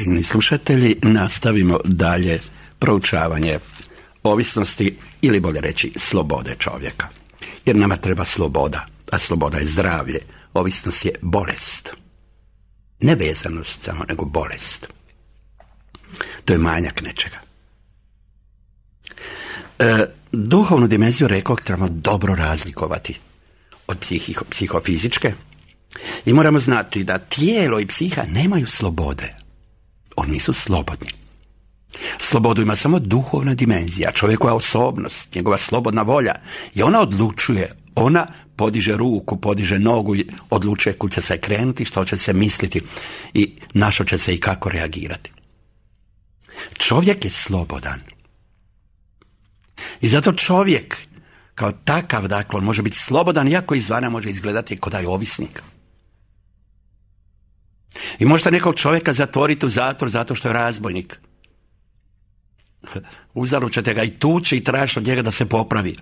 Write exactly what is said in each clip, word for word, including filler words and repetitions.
dragi slušatelji, nastavimo dalje proučavanje ovisnosti ili bolje reći slobode čovjeka. Jer nama treba sloboda, a sloboda je zdravlje. Ovisnost je bolest. Ne vezanost samo, nego bolest. To je manjak nečega. E, duhovnu dimenziju, rekao, trebamo dobro razlikovati od psiho, psihofizičke i moramo znati da tijelo i psiha nemaju slobode. Oni nisu slobodni. Slobodu ima samo duhovna dimenzija, čovjekova osobnost, njegova slobodna volja. I ona odlučuje, ona podiže ruku, podiže nogu i odlučuje kud će se krenuti, što će se misliti i na što će se i kako reagirati. Čovjek je slobodan. I zato čovjek kao takav, dakle, on može biti slobodan, iako izvana može izgledati kao da je ovisnik. I možete nekog čovjeka zatvoriti u zatvor zato što je razbojnik. Uzaru ćete ga i tući i tražiti od njega da se popravi.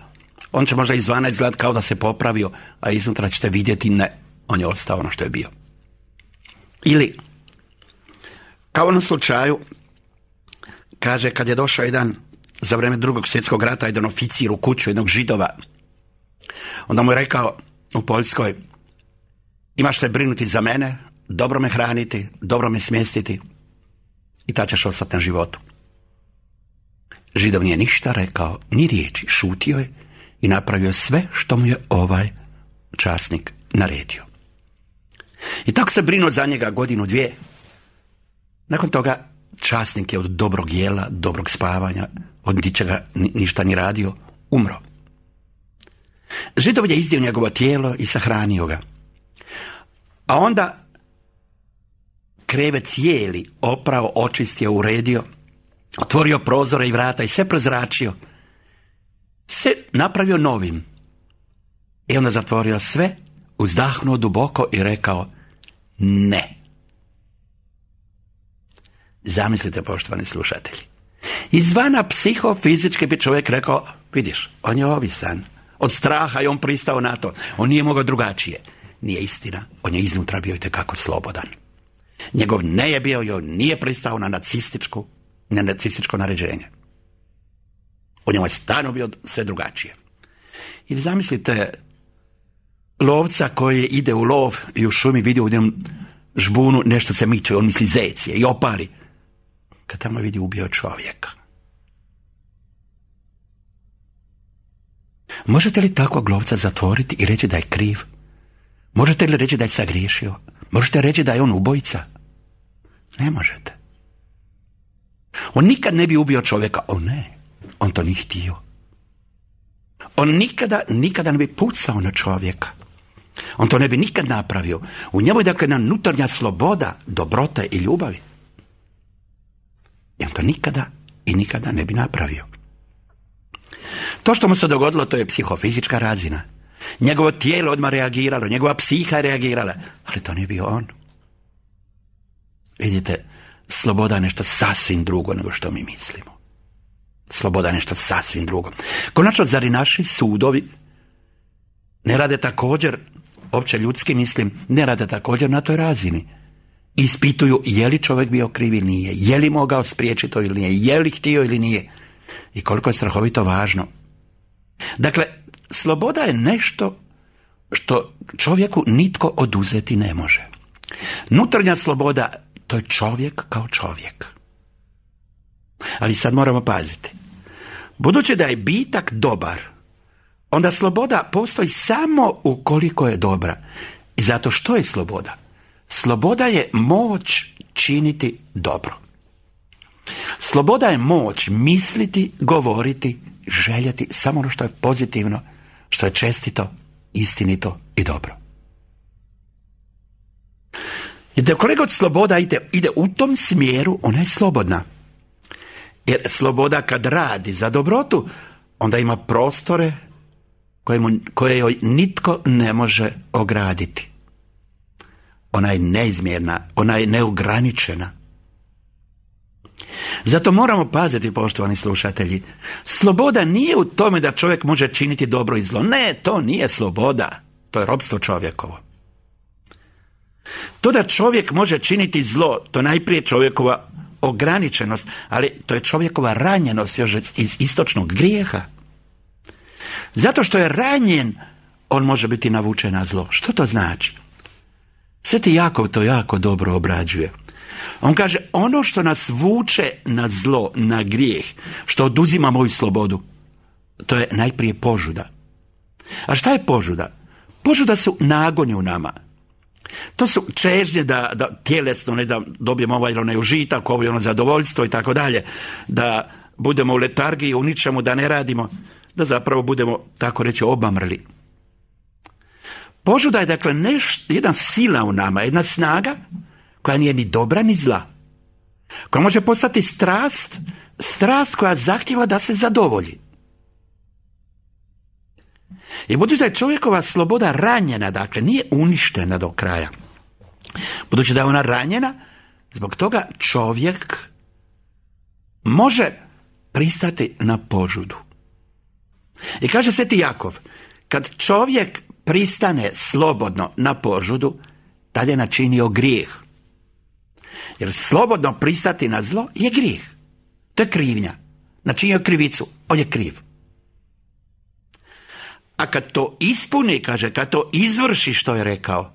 On će možda izvana izgledati kao da se popravio, a iznutra ćete vidjeti ne, on je ostao ono što je bio. Ili, kao u onom slučaju, kaže, kad je došao jedan za vrijeme drugog svjetskog rata jedan oficir u kuću jednog Židova, onda mu je rekao u Poljskoj: imaš te brinuti za mene, dobro me hraniti, dobro me smjestiti i ta ćeš ostati na životu. Židov nije ništa rekao, ni riječi, šutio je i napravio sve što mu je ovaj časnik naredio. I tako se brinuo za njega godinu, dvije. Nakon toga časnik je od dobrog jela, dobrog spavanja, od ničega ništa ni radio, umro. Židov je izdio njegovo tijelo i sahranio ga. A onda krevet cijeli oprao, očistio, uredio, otvorio prozore i vrata i sve prezračio. Sve napravio novim. I onda zatvorio sve, uzdahnuo duboko i rekao ne. Zamislite, poštovani slušatelji. Izvana psihofizički bi čovjek rekao: vidiš, on je ovisan. Od straha i on pristao na to. On nije mogao drugačije. Nije istina. On je iznutra bio itekako slobodan. Njegov ne je bio i on nije pristao na nacističku, na nacističko naređenje. On je stvarno bio sve drugačije. Ili zamislite lovca koji ide u lov i u šumi vidi u njem žbunu nešto se miče, on misli zec je i opali. Kad tamo vidi ubio čovjeka. Možete li takvog lovca zatvoriti i reći da je kriv? Možete li reći da je sagriješio? Možete reći da je on ubojica? Ne možete. On nikad ne bi ubio čovjeka. O ne, on to nije htio. On nikada, nikada ne bi pucao na čovjeka. On to ne bi nikad napravio. U njemu je dakle jedna unutarnja sloboda, dobrota i ljubavi. I on to nikada i nikada ne bi napravio. To što mu se dogodilo, to je psihofizička razina. Njegovo tijelo odmah reagiralo, njegova psiha je reagirala, ali to nije bio on. Vidite, sloboda je nešto sasvim drugo nego što mi mislimo. Sloboda je nešto sasvim drugo. Konačno, zar i naši sudovi ne rade također, opće ljudski mislim, ne rade također na toj razini? Ispituju je li čovjek bio kriv ili nije, je li mogao spriječiti to ili nije, je li htio ili nije. I koliko je strahovito važno. Dakle, sloboda je nešto što čovjeku nitko oduzeti ne može. Unutarnja sloboda, to je čovjek kao čovjek. Ali sad moramo paziti. Budući da je bitak dobar, onda sloboda postoji samo ukoliko je dobra. I zato što je sloboda? Sloboda je moć činiti dobro. Sloboda je moć misliti, govoriti, željeti samo ono što je pozitivno, što je čestito, istinito i dobro. I da koliko sloboda ide, ide u tom smjeru, ona je slobodna. Jer sloboda kad radi za dobrotu, onda ima prostore koje, mu, koje joj nitko ne može ograditi. Ona je neizmjerna, ona je neograničena. Zato moramo paziti, poštovani slušatelji. Sloboda nije u tome da čovjek može činiti dobro i zlo. Ne, to nije sloboda. To je ropstvo čovjekovo. To da čovjek može činiti zlo, to najprije čovjekova ograničenost, ali to je čovjekova ranjenost još iz istočnog grijeha. Zato što je ranjen, on može biti navučen na zlo. Što to znači? Sveti Jakov to jako dobro obrađuje. On kaže, ono što nas vuče na zlo, na grijeh, što oduzima moju slobodu, to je najprije požuda. A šta je požuda? Požuda su nagoni u nama. To su čežnje da, da tjelesno, ne da dobijemo ovaj onaj užitak, ovo ono zadovoljstvo i tako dalje, da budemo u letargiji, u ničemu, da ne radimo, da zapravo budemo, tako reći, obamrli. Požuda je dakle neš, jedna sila u nama, jedna snaga koja nije ni dobra ni zla. Koja može postati strast, strast koja zahtjeva da se zadovolji. I budući da je čovjekova sloboda ranjena, dakle nije uništena do kraja. Budući da je ona ranjena, zbog toga čovjek može pristati na požudu. I kaže Sveti Jakov, kad čovjek pristane slobodno na požudu, tad je načinio grijeh. Jer slobodno pristati na zlo je grijeh. To je krivnja. Načinio krivicu, on je kriv. A kad to ispuni, kaže, kad to izvrši što je rekao,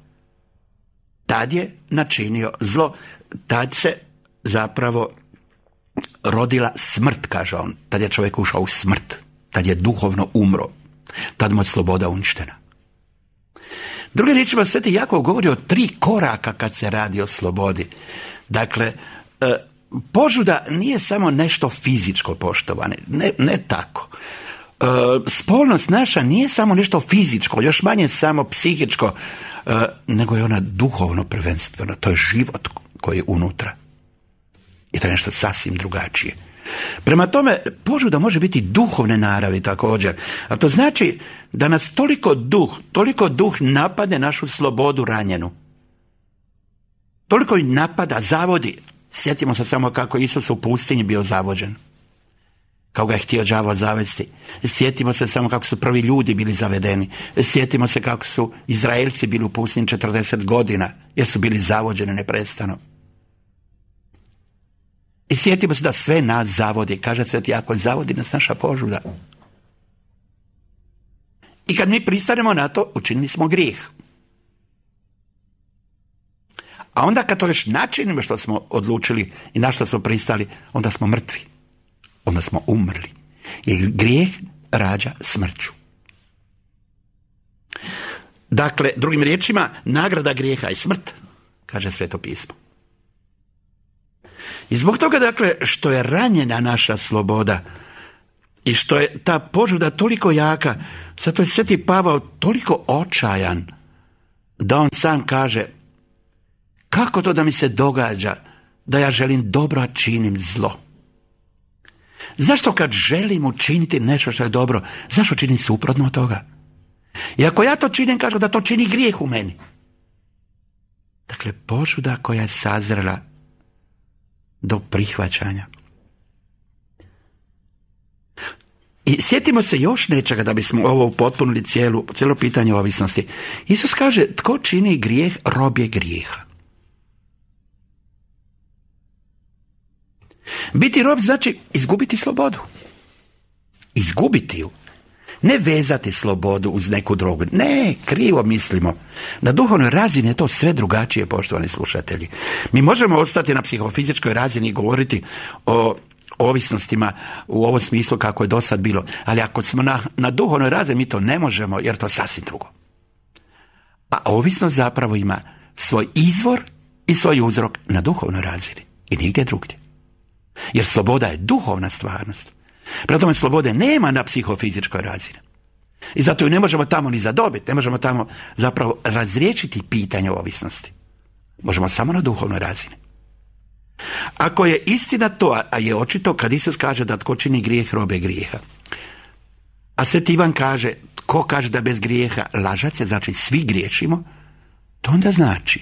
tad je načinio zlo. Tad se zapravo rodila smrt, kaže on. Tad je čovjek ušao u smrt. Tad je duhovno umro. Tad mu je sloboda uništena. Drugim riječima, Sveti Jakov govori o tri koraka kad se radi o slobodi. Dakle, požuda nije samo nešto fizičko, poštovane. Ne, ne tako. Spolnost naša nije samo nešto fizičko, još manje samo psihičko, nego je ona duhovno prvenstveno. To je život koji je unutra. I to je nešto sasvim drugačije. Prema tome, požuda može biti duhovne naravi također. A to znači da nas toliko duh, toliko duh napade našu slobodu ranjenu. Toliko i napada, zavodi. Sjetimo se samo kako Isus u pustinji bio zavođen. Kako ga je htio đavo zavesti. Sjetimo se samo kako su prvi ljudi bili zavedeni. Sjetimo se kako su Izraelci bili u pustinji četrdeset godina, jer su bili zavođeni neprestano. I sjetimo se da sve nas zavodi. Kaže Sveti Jakov, zavodi nas naša požuda. I kad mi pristanemo na to, učinili smo grijeh. A onda kad to još načinimo što smo odlučili i na što smo pristali, onda smo mrtvi. Onda smo umrli. Jer grijeh rađa smrću. Dakle, drugim riječima, nagrada grijeha je smrt, kaže Sveto pismo. I zbog toga, dakle, što je ranjena naša sloboda i što je ta požuda toliko jaka, zato je Sveti Pavao toliko očajan da on sam kaže, kako to da mi se događa da ja želim dobro, a činim zlo? Zašto kad želim učiniti nešto što je dobro, zašto činim suprotno od toga? I ako ja to činim, kažu da to čini grijeh u meni. Dakle, požuda koja je sazrela do prihvaćanja. I sjetimo se još nečega da bismo ovo upotpunili cijelu, cijelo pitanje ovisnosti. Isus kaže, tko čini grijeh, rob je grijeha. Biti rob znači izgubiti slobodu. Izgubiti ju. Ne vezati slobodu uz neku drogu. Ne, krivo mislimo. Na duhovnoj razini je to sve drugačije, poštovani slušatelji. Mi možemo ostati na psihofizičkoj razini i govoriti o ovisnostima u ovom smislu kako je do sad bilo. Ali ako smo na, na duhovnoj razini, mi to ne možemo, jer to je sasvim drugo. A ovisnost zapravo ima svoj izvor i svoj uzrok na duhovnoj razini. I nigdje drugdje. Jer sloboda je duhovna stvarnost. Prema tome, slobode nema na psihofizičkoj razini. I zato ju ne možemo tamo ni zadobiti. Ne možemo tamo zapravo razriješiti pitanje ovisnosti. Možemo samo na duhovnoj razini. Ako je istina to, a je očito kad Isus kaže da tko čini grijeh, rob je grijeha. A Sveti Ivan kaže, tko kaže da bez grijeha lažac je, znači svi griješimo, to onda znači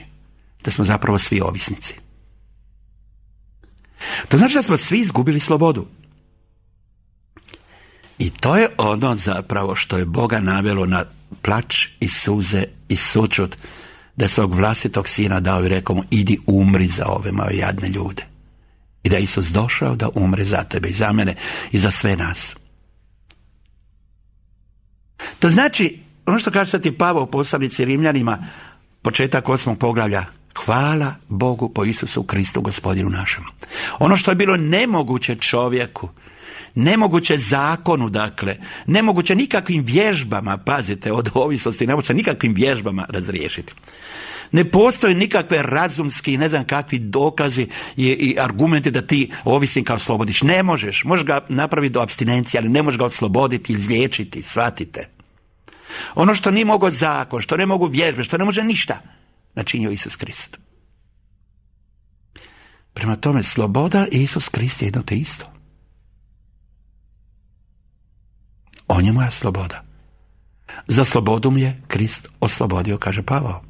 da smo zapravo svi ovisnici. To znači da smo svi izgubili slobodu. I to je ono zapravo što je Boga navelo na plač i suze i sućut, da je svog vlastitog sina dao i rekao mu, idi umri za ove moje jadne ljude. I da je Isus došao da umre za tebe i za mene i za sve nas. To znači, ono što kaže Sveti Pavao u poslanici Rimljanima, početak osmog poglavlja, hvala Bogu po Isusu Kristu Gospodinu našem. Ono što je bilo nemoguće čovjeku, nemoguće zakonu, dakle, nemoguće nikakvim vježbama, pazite, od ovisnosti, nemoguće nikakvim vježbama razriješiti. Ne postoje nikakve razumski, ne znam kakvi dokazi i, i argumenti da ti ovisnika oslobodiš. Ne možeš, možeš ga napraviti do apstinencije, ali ne možeš ga osloboditi ili izliječiti, shvatite. Ono što nije mogo zakon, što ne mogu vježbe, što ne može ništa, načinio Isus Krist. Prema tome, sloboda i Isus Krist je jedno te isto. On je moja sloboda. Za slobodu mi je Krist oslobodio, kaže Pavao.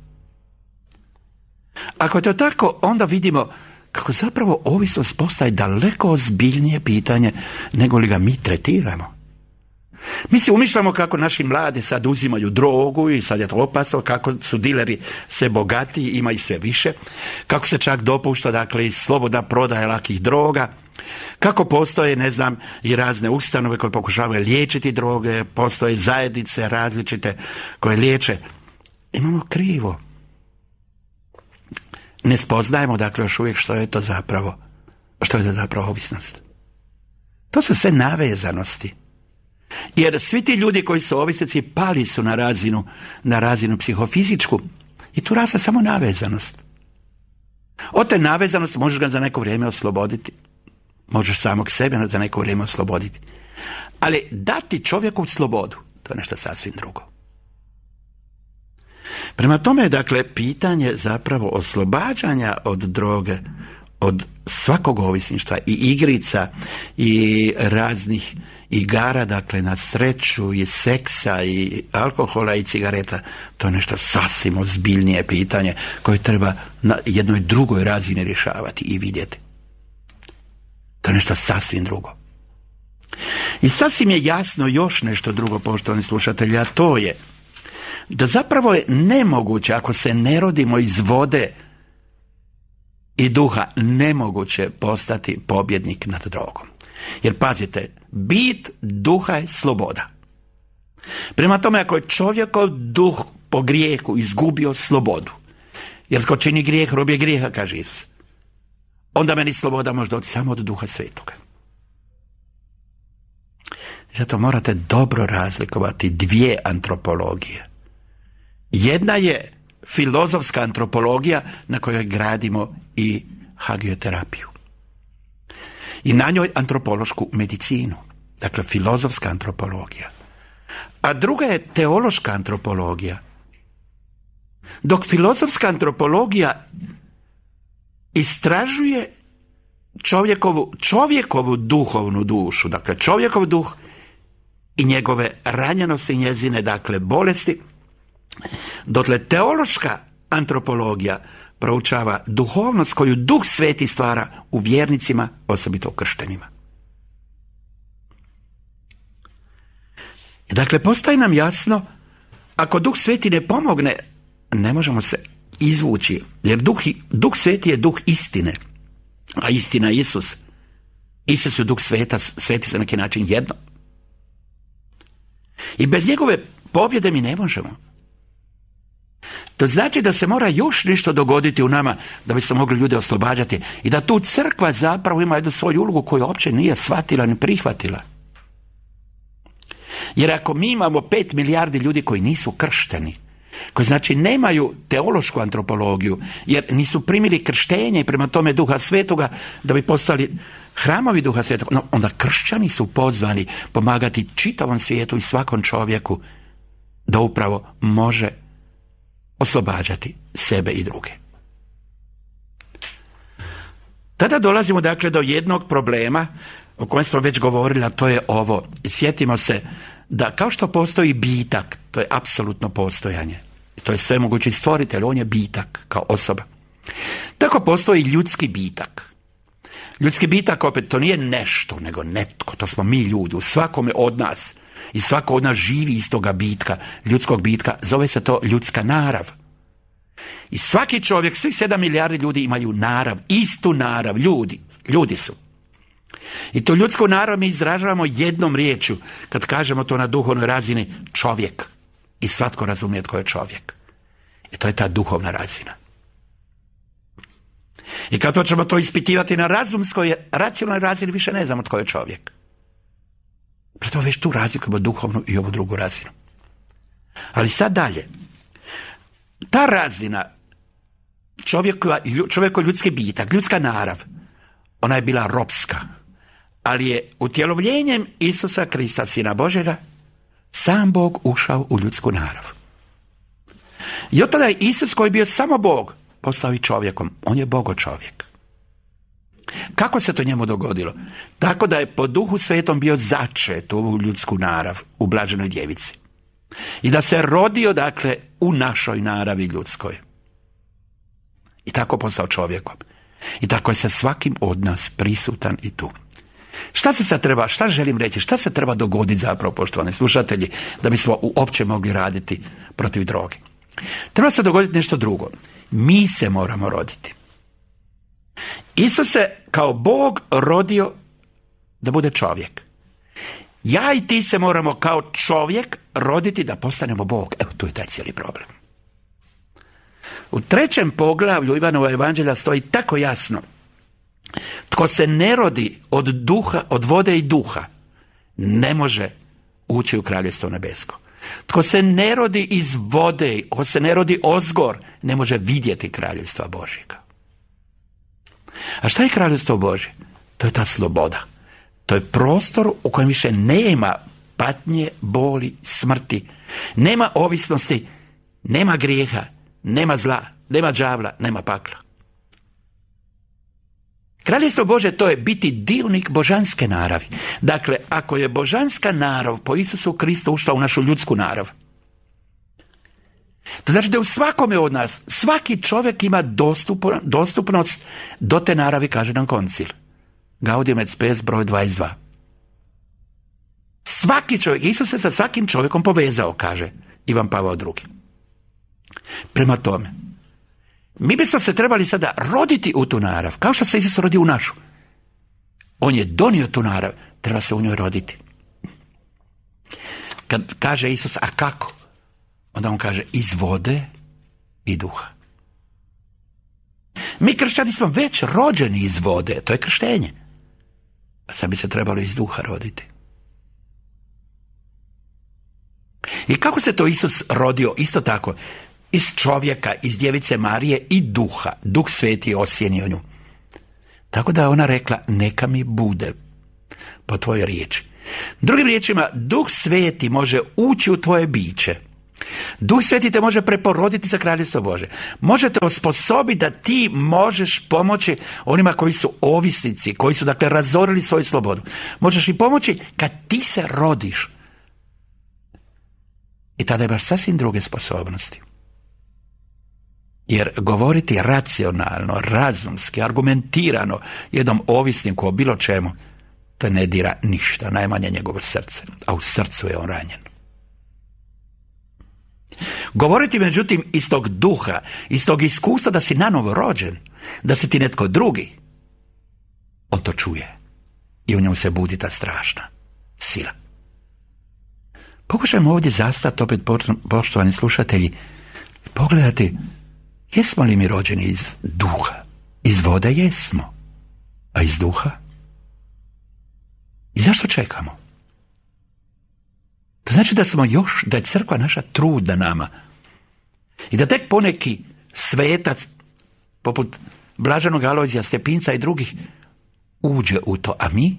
Ako je to tako, onda vidimo kako zapravo ovisnost postaje daleko ozbiljnije pitanje nego li ga mi tretiramo. Mi si umišljamo kako naši mladi sad uzimaju drogu i sad je to opasno, kako su dileri sve bogatiji, ima i sve više, kako se čak dopušta, dakle, i slobodna prodaja lakih droga, kako postoje, ne znam, i razne ustanove koje pokušavaju liječiti droge, postoje zajednice različite koje liječe. Imamo krivo. Ne spoznajemo, dakle, još uvijek što je to zapravo, što je to zapravo ovisnost. To su sve navezanosti. Jer svi ti ljudi koji su ovisnici pali su na razinu, na razinu psihofizičku i tu raste samo navezanost. Od te navezanosti možeš ga za neko vrijeme osloboditi. Možeš samog sebe za neko vrijeme osloboditi. Ali dati čovjeku slobodu, to je nešto sasvim drugo. Prema tome, dakle, pitanje zapravo oslobađanja od droge, od svakog ovisništva i igrica i raznih igara, dakle, na sreću i seksa i alkohola i cigareta, to je nešto sasvim ozbiljnije pitanje koje treba na jednoj drugoj razini rješavati i vidjeti. To je nešto sasvim drugo. I sasvim je jasno još nešto drugo, poštovani slušatelji, a to je da zapravo je nemoguće, ako se ne rodimo iz vode i duha, nemoguće postati pobjednik nad drogom. Jer pazite, bit duha je sloboda. Prema tome, ako je čovjekov duh po grijehu izgubio slobodu, jer ko čini grijeh, rob je grijeha, kaže Isus, onda meni sloboda može doći samo od Duha Svetoga. Zato morate dobro razlikovati dvije antropologije. Jedna je filozofska antropologija na kojoj gradimo i hagioterapiju. I na njoj antropološku medicinu. Dakle, filozofska antropologija. A druga je teološka antropologija. Dok filozofska antropologija istražuje čovjekovu, čovjekovu duhovnu dušu, dakle čovjekov duh i njegove ranjenosti i njezine, dakle, bolesti, dotle teološka antropologija proučava duhovnost koju Duh Sveti stvara u vjernicima, osobito u krštenima. Dakle, postaje nam jasno, ako Duh Sveti ne pomogne, ne možemo se izvući, jer Duh, Duh Sveti je Duh istine, a istina je Isus. Isus je Duh Sveta, Sveti se na neki način jedno. I bez njegove pobjede mi ne možemo. To znači da se mora još nešto dogoditi u nama da bi se mogli ljude oslobađati i da tu crkva zapravo ima jednu svoju ulogu koju uopće nije shvatila ni prihvatila. Jer ako mi imamo pet milijardi ljudi koji nisu kršteni, koji znači nemaju teološku antropologiju, jer nisu primili krštenje i prema tome Duha Svetoga da bi postali hramovi Duha Svetoga, no, onda kršćani su pozvani pomagati čitavom svijetu i svakom čovjeku da upravo može oslobađati sebe i druge. Tada dolazimo, dakle, do jednog problema o kojem smo već govorili, a to je ovo. Sjetimo se da kao što postoji bitak, to je apsolutno postojanje, to je svemogući stvoritelj, on je bitak kao osoba. Tako postoji ljudski bitak. Ljudski bitak, opet, to nije nešto, nego netko, to smo mi ljudi, u svakome od nas. I svako od nas živi iz toga bitka, ljudskog bitka, zove se to ljudska narav. I svaki čovjek, svih sedam milijardi ljudi imaju narav, istu narav, ljudi. Ljudi su. I to ljudsko narav mi izražavamo jednom riječju, kad kažemo to na duhovnoj razini, čovjek. I svatko razumije tko je čovjek. I to je ta duhovna razina. I kad hoćemo to ispitivati na razumskoj, racionalnoj razini, više ne znamo tko je čovjek. Preto već tu razlikujemo duhovnu i ovu drugu razinu. Ali sad dalje. Ta razina čovjekova, čovjeko ljudski bitak, ljudska narav, ona je bila ropska. Ali je utjelovljenjem Isusa Krista, Sina Božjega, sam Bog ušao u ljudsku narav. I od tada je Isus, koji je bio samo Bog, postao i čovjekom. On je Bogo čovjek. Kako se to njemu dogodilo? Tako da je po Duhu Svetom bio začet u ovu ljudsku narav, u blaženoj djevici. I da se rodio, dakle, u našoj naravi ljudskoj. I tako postao čovjekom. I tako je sa svakim od nas prisutan i tu. Šta se sad treba, šta želim reći, šta se treba dogoditi zapravo, poštovani slušatelji, da bismo uopće mogli raditi protiv droge? Treba se dogoditi nešto drugo. Mi se moramo roditi. Isus se kao Bog rodio da bude čovjek. Ja i ti se moramo kao čovjek roditi da postanemo Bog. Evo, tu je taj cijeli problem. U trećem poglavlju Ivanova evanđelja stoji tako jasno: tko se ne rodi od duha, od vode i duha, ne može ući u kraljevstvo nebesko. Tko se ne rodi iz vode, tko se ne rodi ozgor, ne može vidjeti kraljevstva Božjega. A šta je kraljevstvo Božje? To je ta sloboda. To je prostor u kojem više nema patnje, boli, smrti, nema ovisnosti, nema grijeha, nema zla, nema đavla, nema pakla. Kraljevstvo Božje, to je biti dionik božanske naravi. Dakle, ako je božanska narav po Isusu Kristu ušla u našu ljudsku narav, to znači da u svakome od nas, svaki čovjek ima dostup, dostupnost do te naravi, kaže nam koncil. Gaudium et Spes, broj dvadeset dva. Svaki čovjek, Isus se sa svakim čovjekom povezao, kaže Ivan Pavao drugi. Prema tome, mi bismo se trebali sada roditi u tu narav, kao što se Isus rodi u našu. On je donio tu narav, treba se u njoj roditi. Kad kaže Isus, a kako? Onda on kaže, iz vode i duha. Mi kršćani smo već rođeni iz vode, to je krštenje. A sad bi se trebalo iz duha roditi. I kako se to Isus rodio? Isto tako, iz čovjeka, iz djevice Marije i duha. Duh Sveti je osjenio nju. Tako da je ona rekla, neka mi bude po tvojoj riječi. Drugim riječima, Duh Sveti može ući u tvoje biće. Duh Sveti te može preporoditi za kraljevstvo Bože. Može te osposobiti da ti možeš pomoći onima koji su ovisnici, koji su dakle razorili svoju slobodu. Možeš im pomoći kad ti se rodiš. I tada imaš sasvim druge sposobnosti. Jer govoriti racionalno, razumski, argumentirano jednom ovisniku o bilo čemu, to ne dira ništa, najmanje njegovo srce. A u srcu je on ranjen. Govoriti međutim iz tog duha, iz tog iskustva da si nanovo rođen, da si ti netko drugi, on to čuje. I u njemu se budi ta strašna sila. Pokušajmo ovdje zastati, opet poštovani slušatelji, pogledati, jesmo li mi rođeni iz duha? Iz vode jesmo, a iz duha? I zašto čekamo? To znači da smo još, da je crkva naša trudna nama. I da tek poneki svetac, poput blaženog Alojzija Stepinca i drugih, uđe u to, a mi